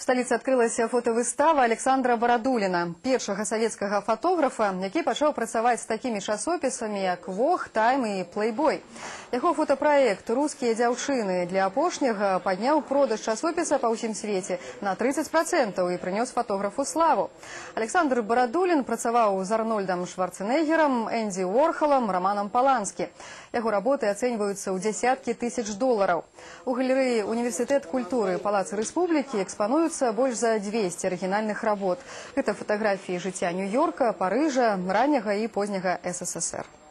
сталіцы адкрылася фотавыстава Александра Барадуліна, першага савецкага фотографа, які пачаў працаваць з такімі часопісамі, як «Вог», «Тайм» і «Плейбой». Яго фотапраект «Рускія дзяўчыны» для апошняга падняў продаж часопіса па ўсім свеце на 30% і прынёс фотографу славу. Александр Барадулін працаваў з Арнольдам Шварценеггерам, Энді Уорхолам, Романом Поланскі. Яго работы ацэньваюцца ў дзясяткі тысяч долараў. У галерэі Універсітэт культуры Палаца Рэспублікі экспануюцца больш за 200 арыгінальных работ. Гэта фатаграфіі жыцця Нью-Йорка, Парыжа, ранняга і позняга СССР.